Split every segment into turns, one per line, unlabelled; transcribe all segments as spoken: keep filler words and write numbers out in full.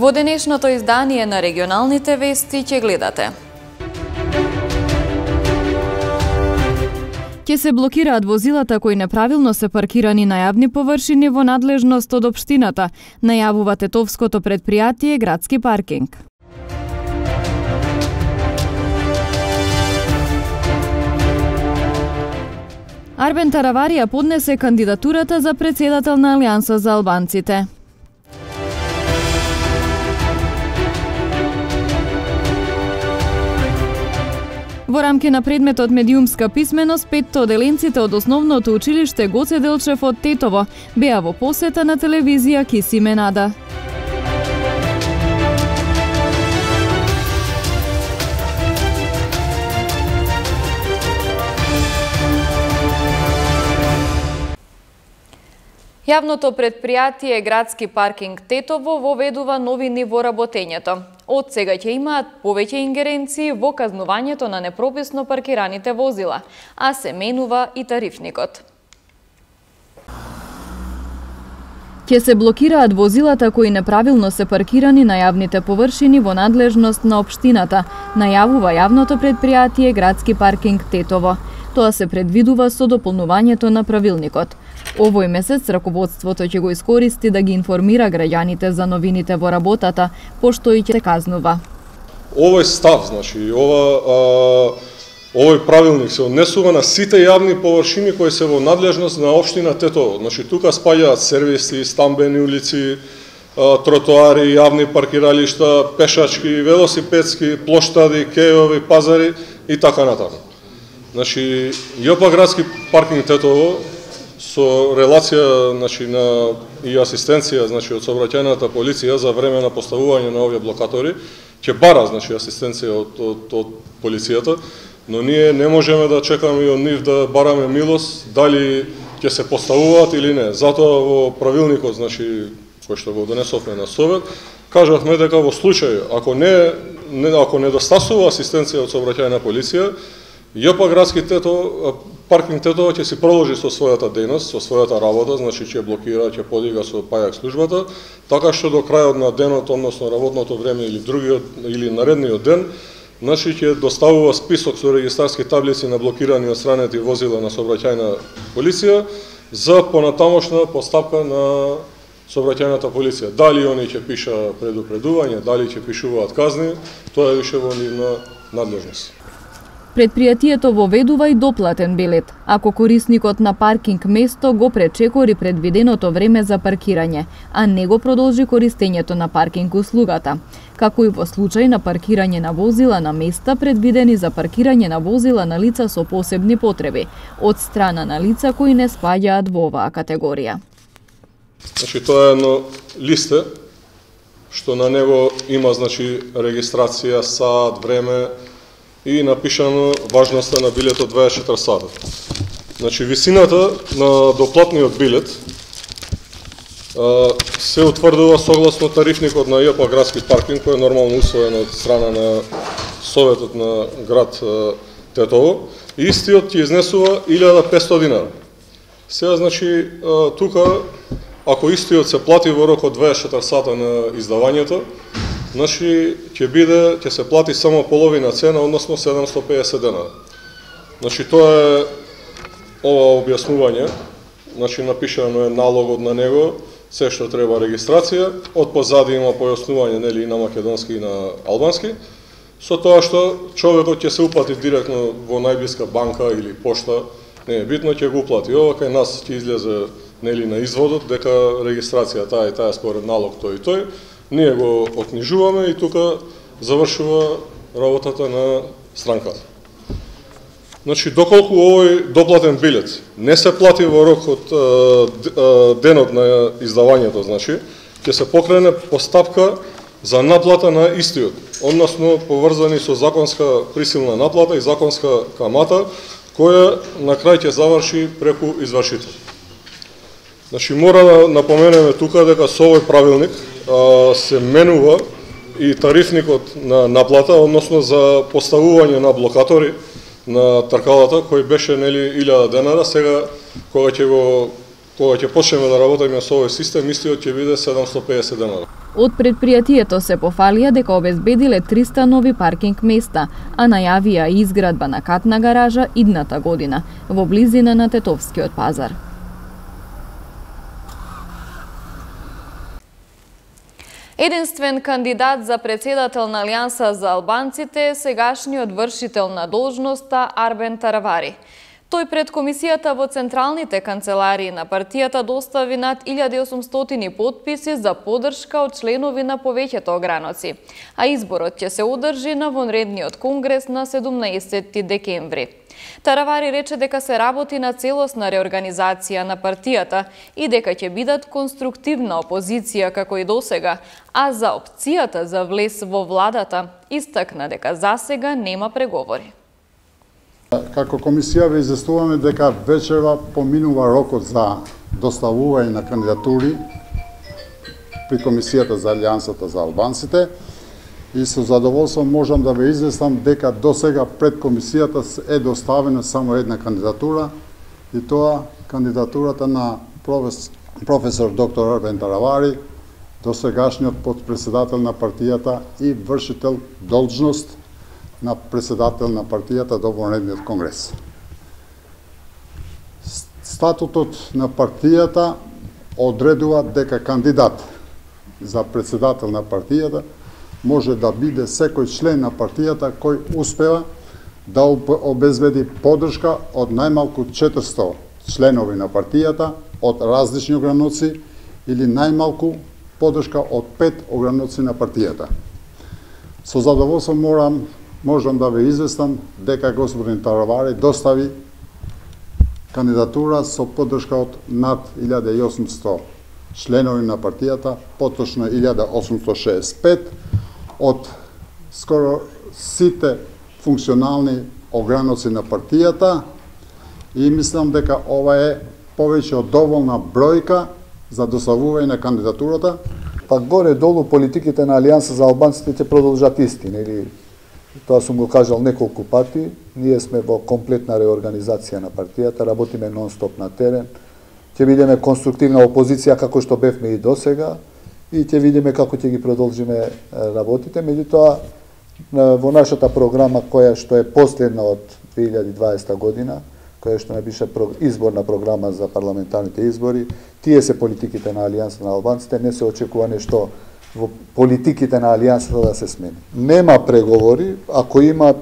Во денешното издание на регионалните вести ќе гледате. Ќе се блокираат возилата кои неправилно се паркирани на јавни површини во надлежност од општината, најавува тетовското претпријатие Градски паркинг. Арбен Тараварија поднесе кандидатурата за председател на Алијанса за албанците. Во рамки на предметот медиумска писменост, петто оделенците од основното училиште Гоце Делчев од Тетово беа во посета на телевизија Киси Менада. Јавното претпријатие Градски паркинг Тетово воведува новини во работењето. Од сега ќе имаат повеќе ингеренции во казнувањето на непрописно паркираните возила, а се менува и тарифникот. Ќе се блокираат возилата кои неправилно се паркирани на јавните површини во надлежност на општината, најавува јавното претпријатие Градски паркинг Тетово. Тоа се предвидува со дополнувањето на правилникот. Овој месец раководството ќе го искористи да ги информира граѓаните за новините во работата, пошто и ќе се казнува.
Овој став, значи, ова, а, овој правилник се однесува на сите јавни површини кои се во надлежност на општина Тетово. Значи, тука спаѓаат сервиси, стамбени улици, а, тротоари, јавни паркиралишта, пешачки, велосипедски, плоштади, кејови, пазари и така натаму. Значи, ЈП Градски паркинг Тетово со релација, значи, на и асистенција, значи, од сообраќајната полиција за време на поставување на овие блокатори, ќе бара, значи, асистенција од, од, од полицијата, но ние не можеме да чекаме и од нив да бараме милост дали ќе се поставуваат или не. Затоа во правилникот, значи, кој што го донесовме на Совет, кажавме дека во случај ако не, не ако недостасува асистенција од сообраќајна полиција, ЈП Градски Тетово, паркинг Тетово ќе си продолжи со својата дејност, со својата работа, значи ќе блокира, ќе подига со пајак службата, така што до крајот на денот, односно работното време или другиот или наредниот ден, значи ќе доставува список со регистарски таблици на блокирани од странети возила на сообраќајна полиција за понатамошна постапка на сообраќајната полиција. Дали они ќе пиша предупредување, дали ќе пишуваат казни, тоа е више во нивна надлежност.
Предпријатието воведува и доплатен билет, ако корисникот на паркинг место го пречекори предвиденото време за паркирање, а не го продолжи користењето на паркинг услугата, како и во случај на паркирање на возила на места предвидени за паркирање на возила на лица со посебни потреби, од страна на лица кои не спаѓаат во оваа категорија.
Значи, тоа е едно листе, што на него има, значи, регистрација, саат, време, и напишано важноста на билетот дваесет и четири сата. Значи, висината на доплатниот билет а, се утврдува согласно тарифникот на ЈП Градски паркинг, кој е нормално усвоен од страна на Советот на град а, Тетово. Истиот ќе изнесува илјада и петстотини динара. Сега, значи, а, тука, ако истиот се плати во рок од дваесет и четири сата на издавањето, значи, ќе биде, ќе се плати само половина цена, односно седумстотини и педесет динара. Значи, тоа е ова објаснување, значи, напишано е налогот на него, се што треба регистрација, од позади има појаснување, нели, и на македонски и на албански, со тоа што човекот ќе се уплати директно во најблиска банка или пошта, не е битно, ќе го уплати. Ова кај нас ќе излезе, нели, на изводот, дека регистрација таа и таа според налог тој и тој, ние го окнижуваме и тука завршува работата на странката. Значи, доколку овој доплатен билет не се плати во рок од денот на издавањето, значи, ќе се покрене постапка за наплата на истиот, односно поврзани со законска присилна наплата и законска камата, која на крај ќе заврши преку извршител. Значи, мора да напоменеме тука дека со овој правилник а, се менува и тарифникот на наплата, односно за поставување на блокатори на тркалата, кој беше, нели, илјада денара, сега кога ќе го кога ќе почнеме да работиме со овој систем, истиот ќе биде седумстотини и педесет денари.
Од предпријатието се пофалија дека обезбедиле триста нови паркинг места, а најавија и изградба на катна гаража идната година во близина на Тетовскиот пазар.
Единствен кандидат за председател на Алијанса за албанците е сегашниот вршител на должноста Арбен Таравари. Тој пред комисијата во централните канцеларии на партијата достави над илјада и осумстотини потписи за поддршка од членови на повеќето ограноци, а изборот ќе се одржи на вонредниот конгрес на седумнаесетти декември. Таравари рече дека се работи на целосна реорганизација на партијата и дека ќе бидат конструктивна опозиција како и досега, а за опцијата за влез во владата истакна дека засега нема преговори.
Како комисија ве известуваме дека вечерва поминува рокот за доставување на кандидатури при комисијата за Алијансата за албанците и со задоволство можам да ве известам дека досега пред комисијата е доставена само една кандидатура и тоа кандидатурата на професор доктор Арбен Таравари, досегашниот потпредседател на партијата и вршител должност на председател на партијата до вонредниот конгрес. Статутот на партијата одредува дека кандидат за председател на партијата може да биде секој член на партијата кој успева да обезбеди поддршка од најмалку четиристо членови на партијата од различни ограноци или најмалку поддршка од пет ограноци на партијата. Со задоволство морам можам да ве известам дека господин Таравари достави кандидатура со поддршка од над илјада и осумсто членови на партијата, поточно илјада осумстотини шеесет и пет од скоро сите функционални ограноци на партијата и мислам дека ова е повеќе од доволна бројка за доставување на кандидатурата.
Па горе-долу политиките на Алијанса за албанците ќе продолжат исти, нели? Тоа сум го кажал неколку пати, ние сме во комплетна реорганизација на партијата, работиме нон-стоп на терен, ќе бидеме конструктивна опозиција како што бевме и досега и ќе видиме како ќе ги продолжиме работите. Меѓутоа, во нашата програма која што е последна од две илјади и дваесета година, која што не беше изборна програма за парламентарните избори, тие се политиките на Алијанса на албанците, не се очекува нешто во политиките на Алијансата да се смени. Нема преговори, ако има,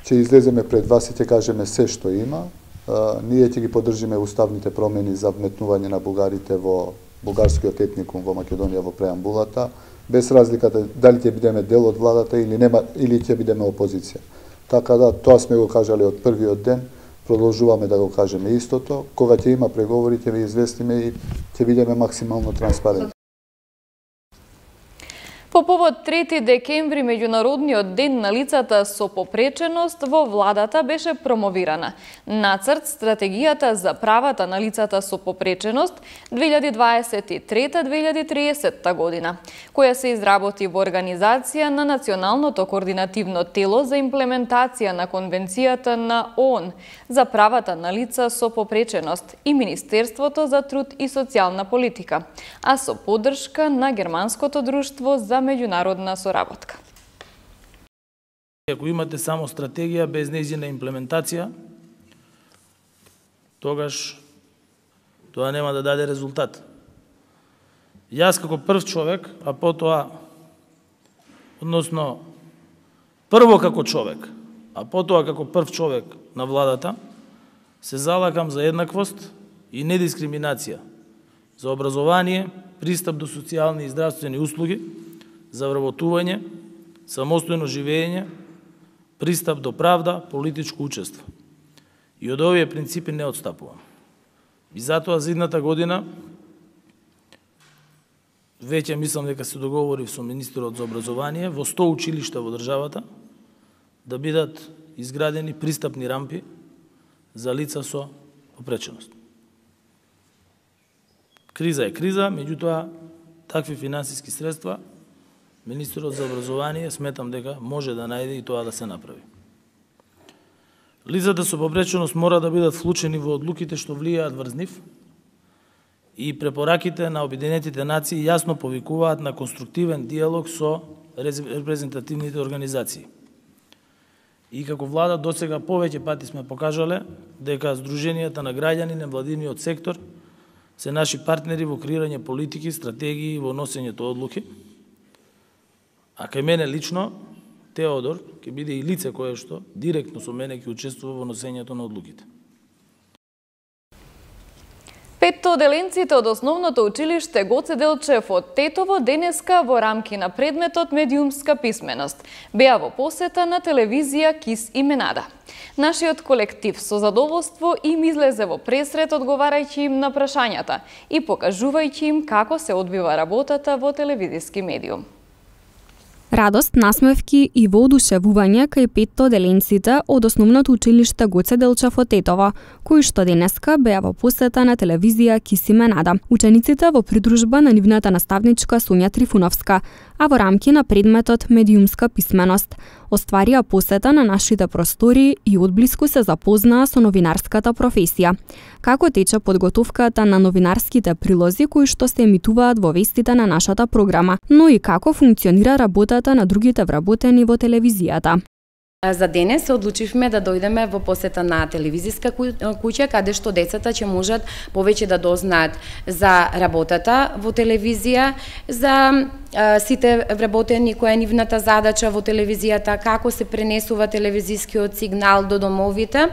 ќе излеземе пред вас и ќе кажеме се што има. А, ние ќе ги поддржиме уставните промени за вметнување на бугарите во бугарскиот етникум во Македонија во преамбулата, без разликата дали ќе бидеме дел од владата или нема или ќе бидеме опозиција. Така да тоа сме го кажале од првиот ден, продолжуваме да го кажеме истото. Кога ќе има преговори ќе ве известиме и ќе бидеме максимално транспарентни.
По повод трети декември, меѓународниот ден на лицата со попреченост, во владата беше промовирана нацрт стратегијата за правата на лицата со попреченост две илјади дваесет и трета до две илјади и триесетта година, која се изработи во организација на Националното координативно тело за имплементација на Конвенцијата на ООН за правата на лица со попреченост и Министерството за труд и социјална политика, а со поддршка на Германското друштво за меѓународна соработка.
Ако имате само стратегија без нејзина имплементација, тогаш тоа нема да даде резултат. Јас како прв човек, а потоа, односно, прво како човек, а потоа како прв човек на владата, се залакам за еднаквост и недискриминација, за образование, пристап до социјални и здравствени услуги, за вработување, самостојно живење, пристап до правда, политичко учество. И од овие принципи не отстапувам. И затоа за идната година веќе мислам дека се договорив со министерот за образование во сто училишта во државата да бидат изградени пристапни рампи за лица со попреченост. Криза е криза, меѓутоа такви финансиски средства министерот за образование сметам дека може да најде и тоа да се направи. Лицата со попреченост мора да бидат вклучени во одлуките што влијаат врз нив и препораките на Обединетите нации јасно повикуваат на конструктивен диалог со репрезентативните организации. И како влада досега повеќе пати сме покажале дека Сдруженијата на граѓани на невладиниот сектор се наши партнери во креирање политики, стратегии и во носењето одлуки. А кај мене лично, Теодор ќе биде и лице кое што директно со мене ќе учествува во носењето на одлуките.
Петто оделенците од основното училиште Гоце Делчев од Тетово денеска во рамки на предметот медиумска писменост беа во посета на телевизија Кис и Менада. Нашиот колектив со задоволство им излезе во пресрет одговарајќи им на прашањата и покажувајќи им како се одвива работата во телевизиски медиум.
Радост, насмевки и воодушевување кај петто оделенците од основното училиште Гоце Делчев од Тетово, кои што денеска беа во посета на телевизија Кис и Менада. Учениците во придружба на нивната наставничка Сонја Трифуновска, а во рамки на предметот медиумска писменост, остварија посета на нашите простори и одблиску се запознаа со новинарската професија. Како тече подготовката на новинарските прилози кои што се емитуваат во вестите на нашата програма, но и како функционира работата на другите вработени во телевизијата.
За денес се одлучивме да дојдеме во посета на телевизиска куќа, каде што децата ќе можат повеќе да дознаат за работата во телевизија, за а, сите вработени која е нивната задача во телевизијата, како се пренесува телевизискиот сигнал до домовите,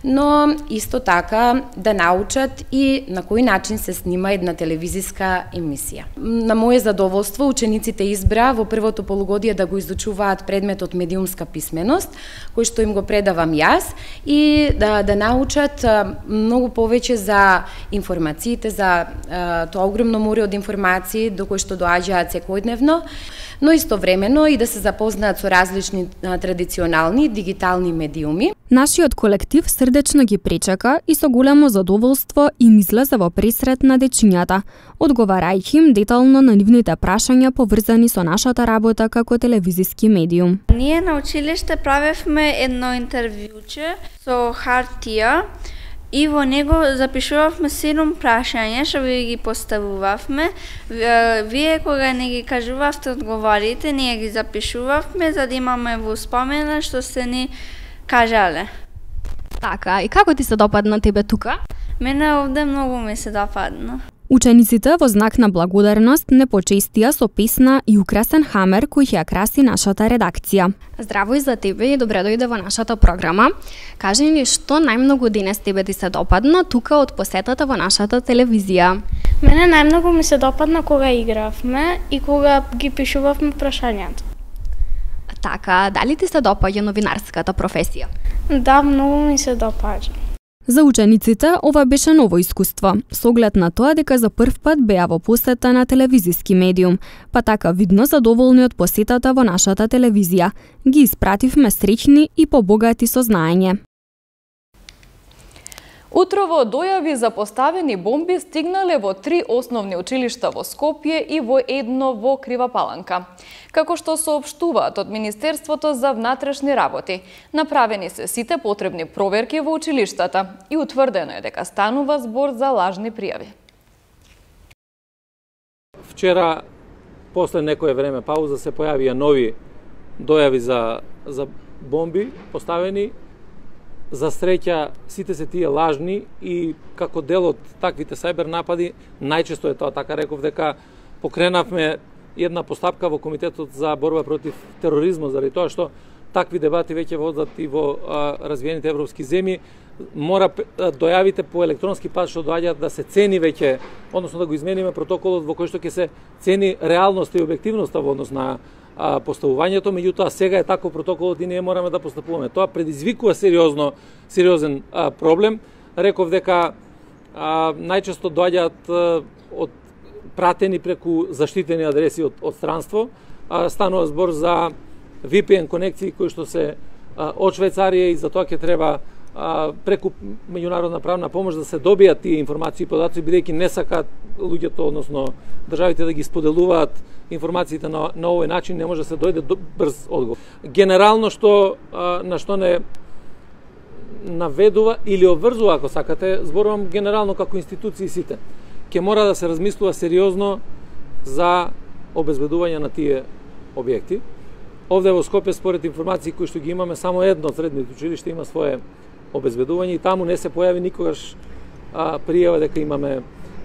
но исто така да научат и на кој начин се снима една телевизиска емисија. На моје задоволство, учениците избра во првото полугодие да го изучуваат предметот медиумска писменост, кој што им го предавам јас, и да, да научат многу повеќе за информациите, за а, тоа огромно море од информации до кои што доаѓаат секојдневно, но истовремено и да се запознаат со различни а, традиционални дигитални медиуми.
Нашиот колектив срдечно ги пречека и со големо задоволство им излезе во пресрет на дечињата, одговарајќи им детално на нивните прашања поврзани со нашата работа како телевизиски медиум.
Ние на училиште правевме едно интервјуче со хартија и во него запишувавме седум прашања што ви ги поставувавме. Вие кога не ги кажувавте одговорите, ние ги запишувавме за да имаме во спомена што се ни кажале.
Така, и како ти се допадна тебе тука?
Мене овде многу ми се допадна.
Учениците во знак на благодарност не почестија со песна и украсен хамер кој ќе ја краси нашата редакција. Здраво и за тебе и добре дојде во нашата програма. Кажи ни што најмногу денес тебе ти се допадна тука од посетата во нашата телевизија?
Мене најмногу ми се допадна кога игравме и кога ги пишувавме прашањата.
Така, дали ти се допаѓа новинарската професија?
Да, многу ми се допаѓа.
За учениците ова беше ново искуство, со оглед на тоа дека за прв пат беа во посета на телевизиски медиум, па така видно задоволни од посетата во нашата телевизија. Ги испративме среќни и побогати со знаење.
Утрово дојави за поставени бомби стигнале во три основни училишта во Скопје и во едно во Кривапаланка. Како што соопштуваат од Министерството за внатрешни работи, направени се сите потребни проверки во училиштата и утврдено е дека станува збор за лажни пријави.
Вчера, после некое време пауза, се појавија нови дојави за, за бомби поставени. За среќа, сите се тие лажни и како дел од таквите сајбер напади, најчесто е тоа, така реков, дека покренавме една постапка во Комитетот за борба против тероризмот, заради тоа што такви дебати веќе водат и во а, развиените европски земји. Мора а, дојавите по електронски пат што доаѓаат да се цени веќе, односно да го измениме протоколот во кој што ќе се цени реалноста и објективноста во однос на а, поставувањето, меѓутоа сега е таков протоколот и ние мораме да постапуваме. Тоа предизвикува сериозно, сериозен а, проблем. Реков дека а, најчесто доаѓаат а, од пратени преку заштитени адреси од, од странство. А, станува збор за ви пи ен конекции кои што се а, од Швајцарија и за тоа ќе треба а, преку меѓународна правна помош да се добијат тие информации и податоци, бидејќи не сакаат луѓето, односно државите да ги споделуваат информациите на, на овој начин, не може да се дојде до брз одговор. Генерално што а, на што не наведува или обврзува, ако сакате, зборувам генерално како институции сите. ќе мора да се размислува сериозно за обезбедување на тие објекти. Овде во Скопје, според информации кои што ги имаме, само едно од средните училишта има свое обезбедување и таму не се појави никогаш а, пријава дека имаме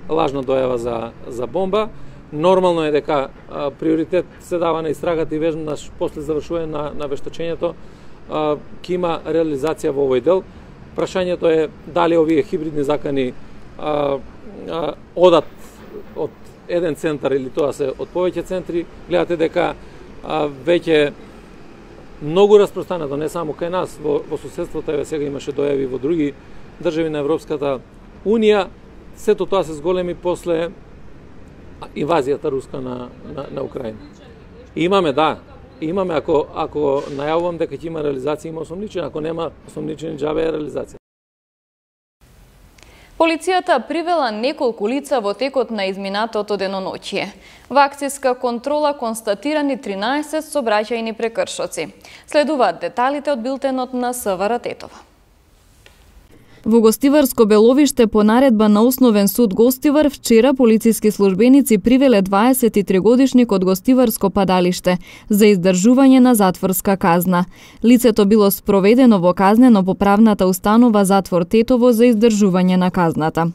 лажна дојава за, за бомба. Нормално е дека а, приоритет се дава на истрагата и веднаш после завршување на, на вештачењето ќе има реализација во овој дел. Прашањето е дали овие хибридни закани а, а, одат од еден центар или тоа се од повеќе центри. Гледате дека а, веќе многу распространето, не само кај нас, во, во соседството, еве сега имаше дојави во други држави на Европската Унија. Сето тоа се зголеми после инвазијата руска на, на, на Украина. И имаме, да, имаме, ако, ако најавувам дека ќе има реализација, има осомничен, ако нема осомничен, џабе е реализација.
Полицијата привела неколку лица во текот на изминатото деноноќие. Во акцијска контрола констатирани тринаесет сообраќајни прекршоци. Следуваат деталите од билтенот на СВР Тетово.
Во Гостиварско Беловиште по наредба на Основен суд Гостивар вчера полициски службеници привеле дваесет и три годишник од Гостиварско падалиште за издржување на затворска казна. Лицето било спроведено во казнено-поправната установа Затвор Тетово за издржување на казната.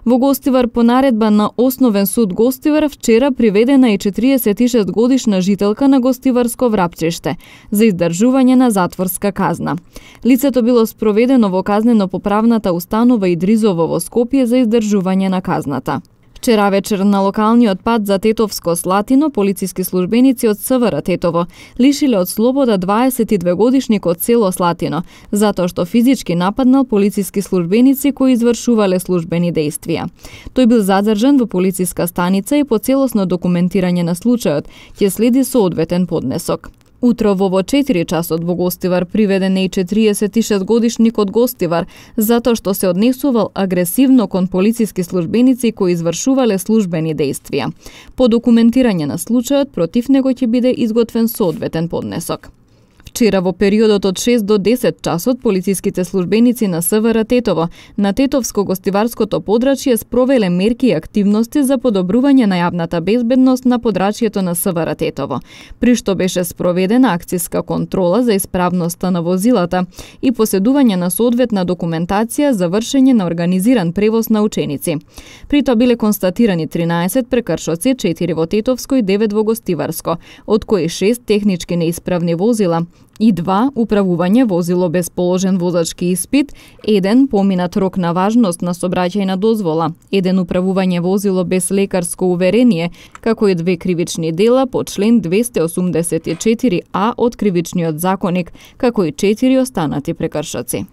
Во Гостивар по наредба на Основен суд Гостивар вчера приведена и четириесет и шест годишна жителка на Гостиварско Врапчиште за издржување на затворска казна. Лицето било спроведено во казнено-поправната установа Идризово во Скопје за издржување на казната. Вчера вечер на локалниот пат за Тетовско Слатино полициски службеници од СВР Тетово лишиле од слобода дваесет и две годишник од село Слатино, затоа што физички нападнал полициски службеници кои извршувале службени дејствија. Тој бил задржан во полициска станица и по целосно документирање на случајот ќе следи соодветен поднесок. Утрово во четири часот во Гостивар приведен е и четириесет и шест годишник од Гостивар, затоа што се однесувал агресивно кон полициски службеници кои извршувале службени дејствија. По документирање на случајот, против него ќе биде изготвен соодветен поднесок. Вчера во периодот од шест до десет часот полициските службеници на СВР Тетово на Тетовско-Гостиварското подрачје спровеле мерки и активности за подобрување на јавната безбедност на подрачјето на СВР Тетово, при што беше спроведена акцијска контрола за исправноста на возилата и поседување на соодветна документација за вршење на организиран превоз на ученици. При тоа биле констатирани тринаесет прекршоци, четири во Тетовско и девет во Гостиварско, од кои шест технички неисправни возила и два управување возило без положен возачки испит, еден поминат рок на важност на сообраќајна дозвола, еден управување возило без лекарско уверение, како и две кривични дела по член двесте осумдесет и четири а од Кривичниот законник, како и четири останати прекршоци.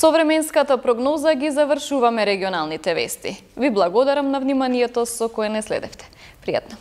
Со временската прогноза ги завршуваме регионалните вести. Ви благодарам на вниманието со кое не следевте. Пријатно.